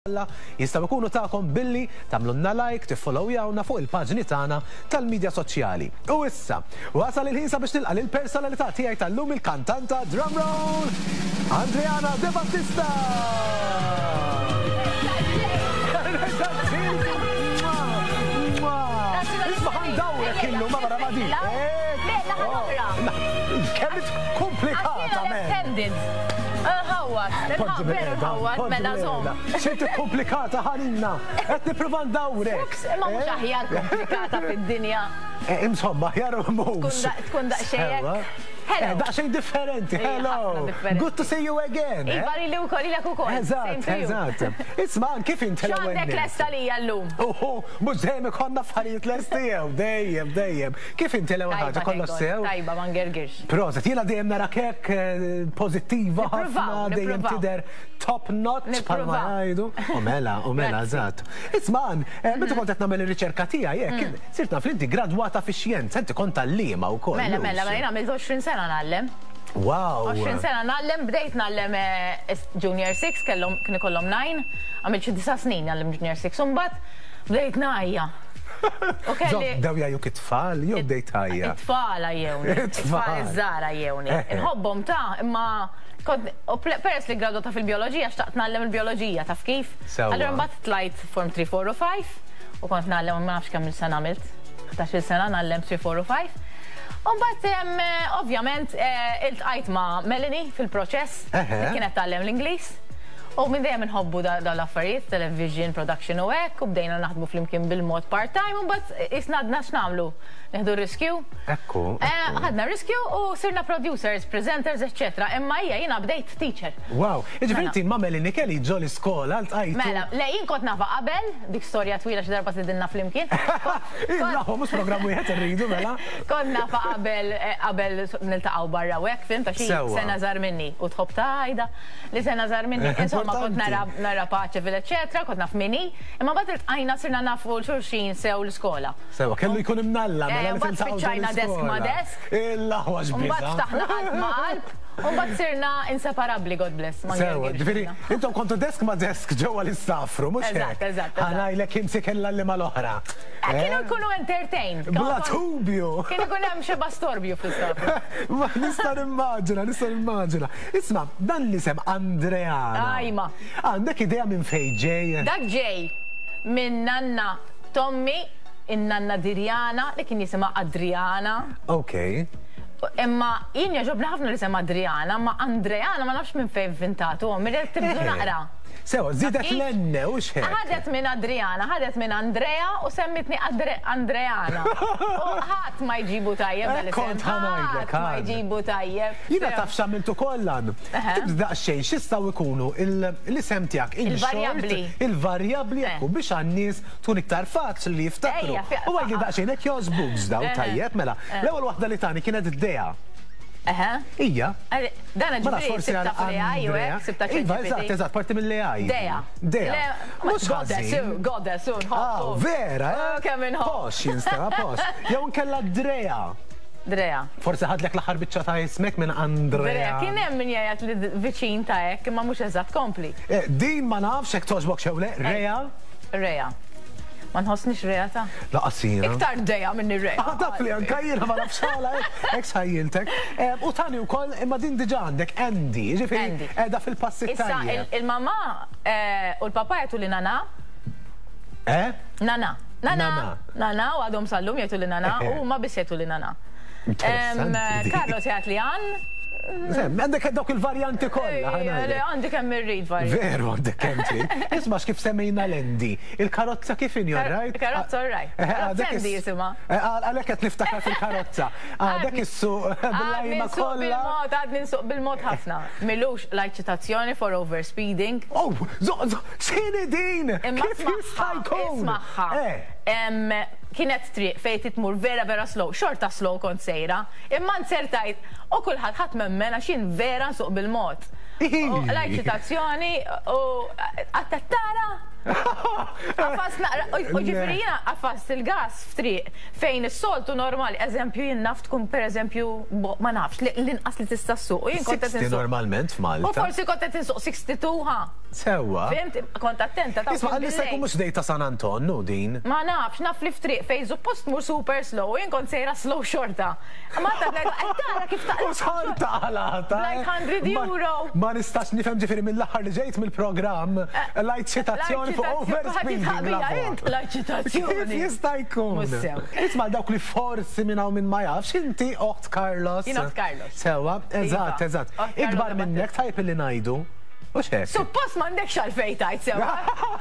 Kollha jistgħu jkunu tagħkom billi tagħmlulna like, tiffollowjawna fuq il-paġni tagħna tal-midja soċjali. U issa, wasal il-ħin sabiex nilqa' lill-personalità tiegħi tal-lum il-kantanta drum roll, Andreana De Battista! Isma' ħa ndawrek illum ma' ma' din. Kemm komplikata, man! Nħawwad, veru nħawwad, mela żomm. Xi komplikata ħanina, qed nipprova ndawrek. Imma mhux aħjar komplikata fid-dinja. Eh, insomma, aħjar mhux. Tkun daqsxejn. Hello. Eh, daqsxejn differenti. Hello. Good to see you again. Eh? Iva li wkoll ilek ukoll. Eżatt, eżatt. Isma' kif inti l-ewwel. X'għandek lesta lija llum? Uhu, mhux dejjem ikollna affarijiet lesti jew dejjem dejjem. Kif inti l-ewwel ħaġa kollox sew? Tajba, ma ngergirx. Proset, jiena dejjem narak hekk pożittiva ħafna, dejjem tidher top notch bħalma jgħidu. U mela, u mela, eżatt. Isma' Ann, meta kont qed nagħmel ir-riċerka tiegħi hekk, sirt naf li inti gradwata fix-xjenza, inti kont għalliema wkoll. Mela, mela, mela, jien għamilt 20 sena ngħallem. Wow! 20 sena ngħallem, bdejt ngħallem junior 6, kellhom kien ikollhom 9, għamilt xi disa' snin ngħallem junior 6, u mbagħad bdejt ngħajja. U kelli. Bdew jgħajjuk it-tfal jew bdejt tgħajja? It-tfal għajjewni. It-tfal iż-żgħar għajjewni. Inħobbhom ta' imma kont u peress li ggradwata fil-bijoloġija xtaqt ngħallem il-bijoloġija, taf kif? Allura mbagħad tlajt form 3, 4 u 5 u kont ngħallem ma nafx kemm-il sena għamilt. 11-il sena ngħallem 3, 4 u 5. U mbagħad ovvjament iltqajt ma' Melanie fil-proċess li kienet tgħallem l-Ingliż. U minn dejjem inħobbu dawn l-affarijiet, television, production u hekk, u bdejna naħdmu flimkien bil-mod part-time, u mbagħad qisna għadna x'nagħmlu? Nieħdu r-riskju? Ekku. Ħadna r-riskju u sirna producers, presenters, eċċetera. Imma hija jiena bdejt teacher. Wow! Jiġifieri inti ma' Melanie Kelly ġo l-iskola ltqajtu? Mela, le jien kont nafha qabel, dik storja twila xi darba tgħidilna flimkien. Nafu, mhux programm wieħed irridu mela. Kont nafha qabel qabel niltaqgħu barra u hekk, fhimt, għax hi sena żgħar minni u tħobb tgħidha. li sena żgħar minni, insomma kont nara nara paċe fil eċetera, kont naf min hi, imma mbagħad iltqajna sirna nafu 'l xulxin sew l-iskola. Sewwa, kellu jkun imnalla mela li Mbagħad spiċċajna desk ma' desk. Il-aħwa x'biża'. Mbagħad ftaħna qalb ma' qalb, u mbagħad sirna inseparabbli, God bless. Sewwa, ġifieri intom kontu desk ma' desk ġewwa l-istaff room, mhux hekk? Eżatt, eżatt. Ħa ngħidlek imsik l-għalliema l-oħra. Kienu jkunu entertained. Bla dubju. Kien ikun hemm xi bastorbju fl-istaff room. Ma nista' nimmaġina, nista' nimmaġina. Isma', dan l-isem Andreana. Ajma. Għandek idea minn fejn ġej? Dak ġej minn nanna t'ommi, in-nanna Dirjana, li kien jisimha Adriana. Ok. Imma jien jogħġobni ħafna l-isem Adriana, imma Andreana ma nafx minn fejn vvintatu ommi, ridet tibdlu naqra. Sewa, żiedet l-N u x'hekk. Ħadet minn Adriana, ħadet minn Andrea u semmitni Andreana. U ħadd ma jġibu tajjeb dan l-isem. Kont ħa ngħidlek. Ħadd ma jġibu tajjeb. Jiena taf x'għamilt ukoll Ann? Ktibt daqsxejn x'jistgħu jkunu l-isem tiegħek in short, il-varjabbli hekk u biex għan-nies tkun iktar faċli li jiftakru. U għidli daqsxejn hekk jogħġbukx dawn tajjeb mela. L-ewwel waħda li tani kienet Dea. Hija. Dan ġifieri sibta fl-AI u hekk, sibta ChatGPT. Iva, eżatt, eżatt, parti mill-AI. Dea. Dea. Mhux ħażin. Goddess, nħobbu. Vera, eh? Kemm inħobb. Posh jinstema' posh. Jew inkella Drea. Drea. Forsi ħadlek l-aħħar biċċa ta' ismek minn Andrea. Drea, kien hemm min jgħid li viċin ta' hekk, imma mhux eżatt, kompli. Din ma nafx hekk togħġbok xew le, Rea. Rea. Ma nħossnix rea ta'. Lanqas jiena. Iktar Dea minni Rea. Ah, taf li anke jiena ma nafx għala hekk sħajjiltek. U tani wkoll imma din diġà għandek Andy, jiġifieri qiegħda fil-passi t-tajjeb. Issa il-mamà u l-papà jgħiduli Nana. Eh? Nana. Nana. Nana u għadhom sal-lum jgħiduli Nana u huma biss jgħiduli Nana. Carlos jgħid li Ann. Għandek dawk il-varjanti kollha. Għandi kemm irrid varjanti. Veru għandek kemm trid. Isma' x'kif semmejna l-Andy. Il-karozza kif inhi all right? Il-karozza all right. Karozza Andy jisimha. Għalhekk qed niftakar fil-karozza. Għadek issuq bil-lajma kollha. Bil-mod, għadni nsuq bil-mod ħafna. Milux lajt ċitazzjoni for overspeeding. Oh, x'inhi din? Kif jista' jkun? Ismagħha. Kienet triq fejn trid tmur vera vera slow, xorta slow kont sejra, imma nzertajt u kulħadd ħadd m'emmen għax jien vera nsuq bil-mod. U qlajt ċitazzjoni u qatt qed tara? Għafast naqra, u ġifieri jiena għafast il-gas f'triq fejn is-soltu normali, eżempju jien naf tkun pereżempju ma nafx l-inqas li tista' ssuq. U jien kont qed insuq. Normalment f'Malta. U forsi kont qed insuq 62 ha. Sewwa. Fhimt, kont attenta ta' Isma' jista' jkun mhux dej ta' San Anton, hu din. Ma nafx, naf li f'triq fejn suppost tmur super slow u jien kont sejra slow xorta. Ma ta' qed tara kif ta' U xorta qalgħatha. Like 100 euro. Ma nistax nifhem ġifieri mill-aħħar li ġejt mill-programm lajt ċitazzjoni fuq overspeeding. Lajt ċitazzjoni. Kif jista' jkun? Isma' dawk li forsi minn hawn min ma jafx, inti oħt Carlos. Jien oħt Carlos. Sewwa, eżatt, eżatt. Iva. Ikbar minnek tajjeb illi ngħidu. Hux hekk? Suppost m'għandekx għalfejn tgħid sewwa.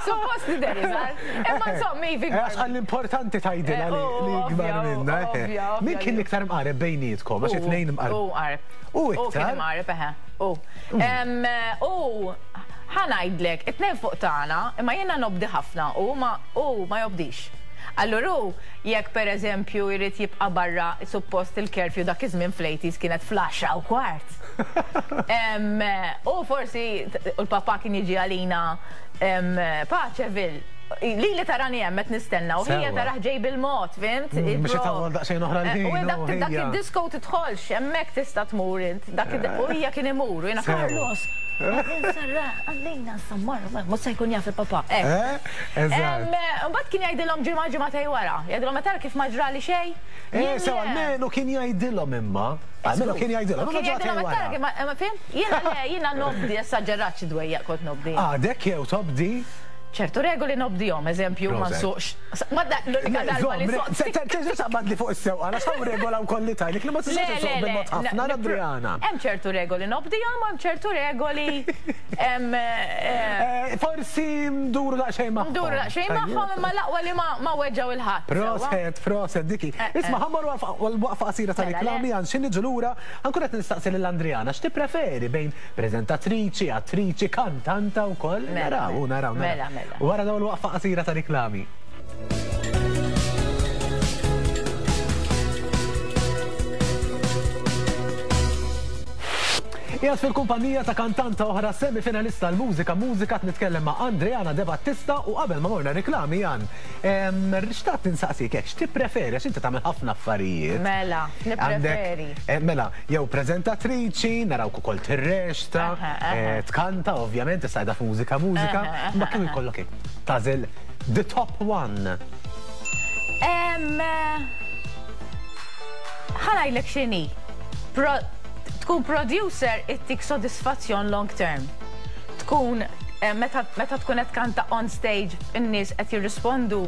Suppost tidher iżgħar. Imma insomma iva ikbar. Għax għall-importanti tgħidilha li ikbar minna. Min kien l-iktar mqareb bejnietkom? Għax it-tnejn imqareb. Hu mqareb. Hu iktar? Hu kien imqareb eħe. Hu. U ħa ngħidlek, it-tnejn fuq tagħna, imma jiena nobdi ħafna u hu ma jobdix. Allura hu jekk pereżempju jrid jibqa' barra suppost il-curfew dak iż-żmien fl-eighties kienet fl-għaxra u kwart. U forsi u l-papà kien jiġi għalina Paceville. Lili tarani hemm qed nistenna u ħija tarah ġej bil-mod, fhimt? Biex itawwal daqsxejn oħra l-ħin. U dak id-disco tidħolx, hemmhekk tista' tmur int. U hija kien imur u jiena Carlos. Għallejna sammar, mhux se jkun jaf il-papà. Imbagħad kien jgħidilhom ġimgħa ġimgħatej wara. Jgħidilhom ma tara kif ma ġrali xejn. Sew almenu kien jgħidilhom imma. Almenu kien jgħidilhom. Kien jgħidilhom ma tara kif ma fhimt? Jiena le, jiena nobdi, esaġerat xi dwejjaq kont nobdi. Għadek jew tobdi? Ċertu regoli nobdihom, eżempju, ma nsuqx. Ma da, l-unika darba li soqt. Terġa' taqbadli fuq is-sewqan għax hawn regola wkoll li tgħidlek li ma tistax issuq bil-mod ħafna Adriana. Hemm ċertu regoli nobdihom, hemm ċertu regoli. Forsi nduru daqsxejn magħhom. Nduru daqsxejn magħhom imma l-aqwa li ma weġġgħu 'l ħadd. Proset, proset diki. Isma' ħa mmorru għal waqfa qasira ta' riklami għal xi niġu lura ħa nkun qed nistaqsi lil Andriana x'tippreferi bejn Preżentatriċi, attriċi, kantanta wkoll. Naraw, naraw, naraw. Mela, mela. Wara dawn il-waqfa qasira ta' riklami. Qiegħed fil-kumpanija ta' kantanta oħra semifinalista l-mużika mużika qed nitkellem ma' Andreana De Battista u qabel ma morna riklami Jan, xtaqt insaqsik hekk x'tippreferi għax inti tagħmel ħafna affarijiet. Mela, nippreferi. Mela, jew preżentatriċi, narawk ukoll tirreċta, tkanta ovvjament, issa qiegħda f'Mużika Mużika, imma kieku jkollok hekk tagħżel the top one. Ħa ngħidlek x'inhi. Tkun producer ittik sodisfazzjon long term. Tkun meta tkun qed tkanta on stage in-nies qed jirrispondu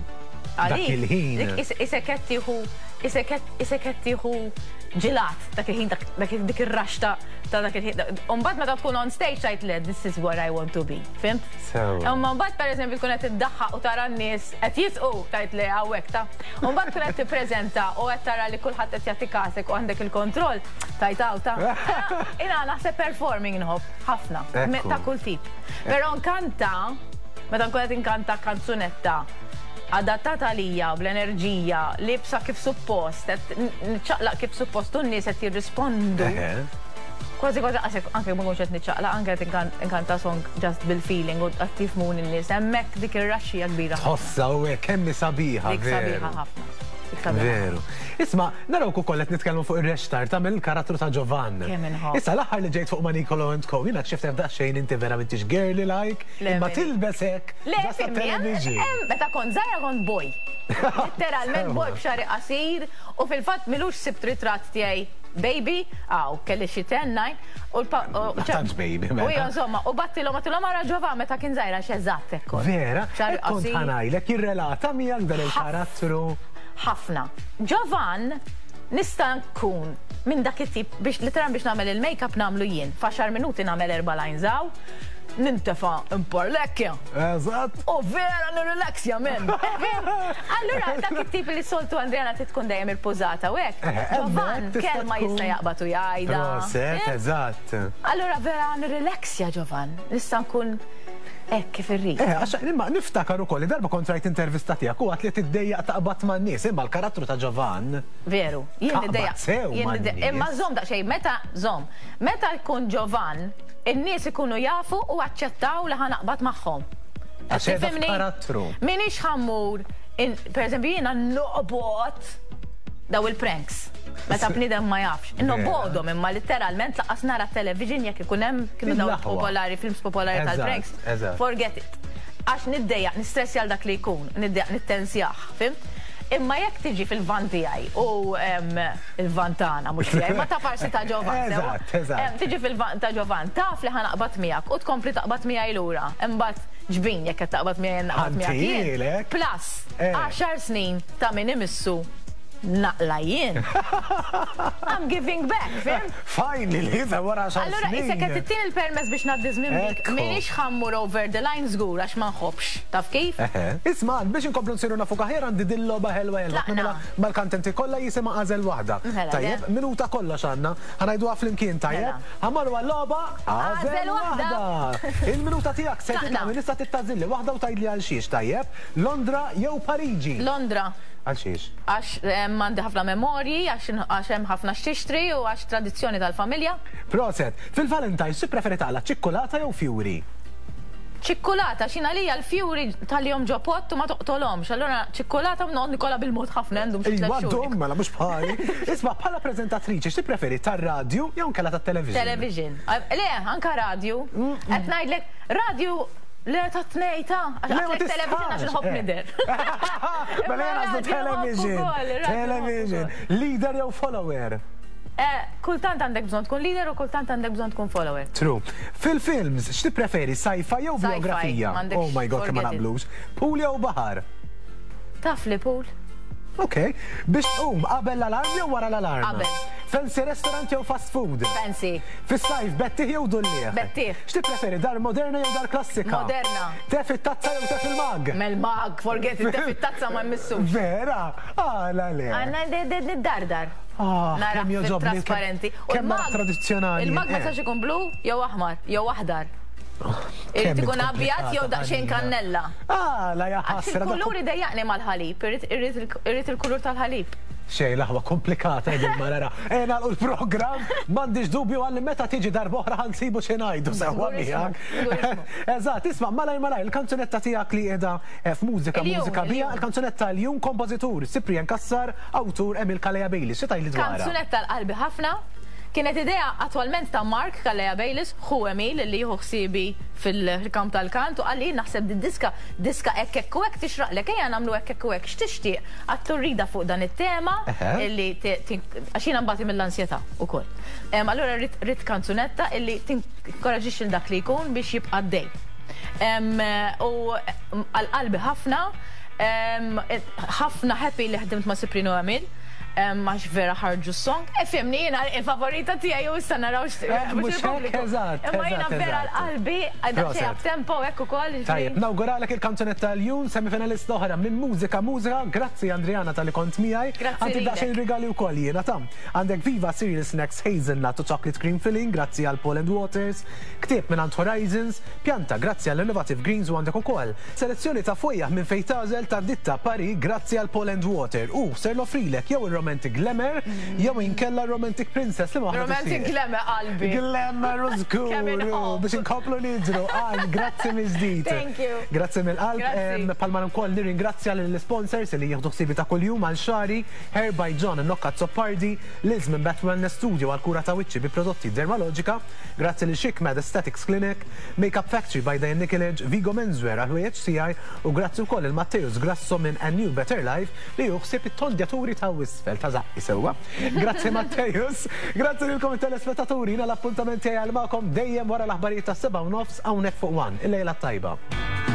għalik. Dak il-ħin. Isek qed tieħu isek qed tieħu ġilat dak il-ħin dak dik ir-rush ta' ta' dak il-ħin. U mbagħad meta tkun on stage tgħid le this is where I want to be. Fhimt? Sewwa. Imma mbagħad pereżempju tkun qed iddaħħaq u tara n-nies qed jisqu tgħid le hawnhekk ta'. U mbagħad tkun qed tippreżenta u qed tara li kulħadd qed jagħti kasek u għandek il-kontroll tgħid hawn ta'. Jiena naħseb performing nħobb ħafna ta' kull tip. Però nkanta meta nkun qed inkanta kanzunetta adattata għalija bl-enerġija, liebsa kif suppost, qed niċċaqlaq kif suppost u n-nies qed jirrispondu. Kważi kważi qas anke ma nkunx qed niċċaqlaq, anke qed inkanta song just bil-feeling u qed jifhmuni n-nies. Hemmhekk dik ir-rush hija kbira ħafna. Tħossha u hekk kemm hi sabiħa. Dik sabiħa ħafna. Veru. Isma', narawk ukoll qed nitkellmu fuq ir-rextar tagħmel il-karattru ta' Giovan. Kemm inħobb. Issa l-aħħar li ġejt fuq ma' Nicolo and Co, jiena kxift hemm daqsxejn inti vera m'intix girly like, imma tilbes hekk. Le, fimni, meta kont żgħira kont boy. Litteralment boy b'xagħri qasir u fil-fatt m'ilux sibt ritratt tiegħi baby, aw, kelli xi 10, 9, u l-pa. Ma tantx baby, mela. U insomma, u battilhom għattilhom ara Ġovan meta kien żgħir għax eżatt hekk kont. Vera? Xagħri Hekk kont qasir. ħa ngħidlek, jirrelata miegħek dan il-karattru? Ħafna. Ġovan nista' nkun minn dak it-tip biex literalment biex nagħmel il-makeup nagħmlu jien. F'għaxar minuti nagħmel erba' lines hawn, nintefa' imparlekkja. Eżatt. U vera nirrilaxja men. Allura dak it-tip li soltu Andreana trid tkun dejjem irpużata u hekk. Ġovan kelma jista' jaqbad u jgħidha. Proset, eżatt. Allura vera nirrilaxja Ġovan. Nista' nkun hekk kif irrid. Eh, għax imma niftakar ukoll li darba kont rajt intervista tiegħek u għedt li tiddejjaq taqbad man-nies, imma l-karattru ta' Ġovan. Veru, jien niddejjaq. Sew man-nies. Imma żomm daqsxejn, meta żomm, meta jkun Ġovan, In-nies ikunu jafu u aċċettaw li ħa naqbad magħhom. Għax qiegħda f'karattru. M'iniex ħa mmur, per eżempju jiena noqbod daw il-pranks. Meta bniedem ma jafx. Nobgħodhom imma litteralment lanqas nara television jekk ikun hemm kienu daw popolari, films popolari tal-pranks. Forget it. Għax niddejjaq, nistressja għal dak li jkun, niddejjaq nittensjah, fhimt? Imma jekk tiġi fil-van tiegħi u il-van tagħna mhux tiegħi, ma ta' parsi ta' Ġovan. Eżatt, eżatt. Tiġi fil-van ta' Ġovan, taf li ħa naqbad miegħek u tkompli taqbad miegħi lura. Imbagħad ġbin jekk qed taqbad miegħi jien naqbad miegħek jien. Plus, għaxar snin ta' min imissu naqla' jien. I'm giving back, fhimt? Finally, ta' wara għaxar snin. Allura qisek qed ittini l-permess biex ngħaddi żmien bik. M'iniex ħa mmur over the line żgur għax ma nħobbx, taf kif? Isma' Ann, biex inkomplu nsiru nafuk aħjar għandi dil-logħba ħelwa ħelwa nagħmilha mal-kantenti kollha jisimha Għażel Waħda. Tajjeb, minuta kollox għandna. Ħa ngħiduha flimkien, tajjeb? Ħa mmorru għal-logħba Għażel Waħda! Il-minuta tiegħek se titla' minn issa trid tagħżilli waħda u tgħidli għalxiex, tajjeb? Londra jew Pariġi? Londra. Għalxiex? Għax għandi ħafna memorji, għax hemm ħafna x'tixtri u għax tradizzjoni tal-familja. Proset. Fil-Valentine's x'tippreferi taqla' ċikkulata jew fjuri? Ċikkulata, għax jien għalija l-fjuri tħallihom ġo pott u ma toqtolhomx, allura ċikkulata u noqgħod nikolha bil-mod ħafna ndum xi tliet xhur. Iva ddum, mela mhux bħali. Isma' bħala preżentatriċi x'tippreferi tar-radju jew inkella tat-television? Television. Le, anka radju. Qed ngħidlek, radju le tat-tnejn ta' għax għedtlek television għax inħobb nidher. Mela jien għażlu television. Television. Leader jew follower? Kultant għandek bżonn tkun leader u kultant għandek bżonn tkun follower. True. Fil-films, x'tippreferi, sci-fi jew bijografija? Oh my God, kemm ma naqblux. Pool jew baħar? Taf li pool. Ok. Biex tqum, qabel l-alarm jew wara l-alarm? Qabel. Fancy restaurant jew fast food? Fancy. Fis-sajf, bettieħ jew dulliegħ? Bettieħ. X'tippreferi, dar moderna jew dar klassika? Moderna. Te fit-tazza jew te fil-mug? Mel-mug, forget it, te fit-tazza ma mmissux. Vera? Għala le? Għanna niddardar. Ah, Nara kemm jogħġobni, trasparenti. U kemm nara l-mug- tradizzjonali. Il-mug ma eh. jistax ikun blu jew aħmar jew aħdar. Irid Kemm ikun abjad jew komplikata daqsxejn ħanina. kannella. Ah, la ja Għax ħasra. il-kulur idejjaqni mal-ħalib, irrid il-kulur tal-ħalib. Xej, laħwa komplikata din marara. E nagħlqu l-programm, m'għandix dubju għalli meta tiġi darba oħra ħa nsibu xi ngħidu sewwa Żgur ismu, miegħek. żgur ismu. Eżatt, isma' malaj malaj, il-kanzunetta tiegħek li qiegħda eh, f'mużika Il-jum, mużika bija, il-jum. il-kanzunetta l-jum kompożitur Cyprian Cassar, awtur Emil Calleja Bayliss. Xi tgħidli dwarha? Kanzunetta l-qalbi ħafna. Kienet idea attwalment ta' Mark Calleja Bayliss, ħu Emil li jieħu ħsiebi fil-kamp tal-kant u qalli naħseb di diska, diska hekk hekk u hekk tixraqlek, ejja nagħmlu hekk hekk u hekk, x'tixtieq? Għadtlu rridha fuq dan it-tema illi għax jiena nbati mill-ansjetà ukoll. Allura rrid kanzunetta illi tinkoraġġixxi lil dak li jkun biex jibqa' għaddej. U għal qalbi ħafna, ħafna happy li ħdimt ma' Cyprino Emil. Għax vera ħarġu s-song. E fimni jiena il-favorita tiegħi u issa naraw mhux hekk, eżatt. Imma jiena vera l-qalbi daqsxejn up tempo hekk ukoll. Tajjeb, nawguralek il-kanzunetta l-jum semifinalista oħra minn Mużika Mużika. Grazzi Andriana talli kont miegħi. Grazzi. Għandi daqsxejn rigali wkoll jiena ta'. Għandek Viva Cereal Snacks Hazelnut u Chocolate Cream Filling, grazzi għal Paul and Waters. Ktieb mingħand Horizons, pjanta grazzi għal Innovative Greens u għandek ukoll selezzjoni ta' fwejjaħ minn fejn tagħżel ta' ditta Paris grazzi għal Paul and Water u ser noffrilek jew ir-Romantic Glamour jew inkella r-Romantic Princess li waħda Romantic Glamour qalbi. Glamour u żgur biex inkomplu nidhru. Għal grazzi mill-ġdid. Thank you. Grazzi mill-qalb. Palma wkoll nirringrazzja lill-sponsors li jieħdu ħsiebi ta' kuljum għal xagħri, Hair by John Nocca Azzopardi, Liz minn Bat Wellness Studio għal kura ta' wiċċi bi prodotti Dermalogica, Grazzi lil Chic Med Aesthetics Clinic, Makeup Factory by Diane Nikolic, Vigo Menswear għall-ħwejjeġ tiegħi u grazzi wkoll lil Matteus Grasso minn A New Better Life li hu ħsieb it-tondjaturi ta' isfel ta' żaqqi sewwa. Grazzi Matteus, grazzi lilkom it-telespettaturi, jiena l-appuntament tiegħi għal magħkom dejjem wara l-aħbarijiet tas-7:30 hawnhekk fuq One. Il-lejla t-tajba.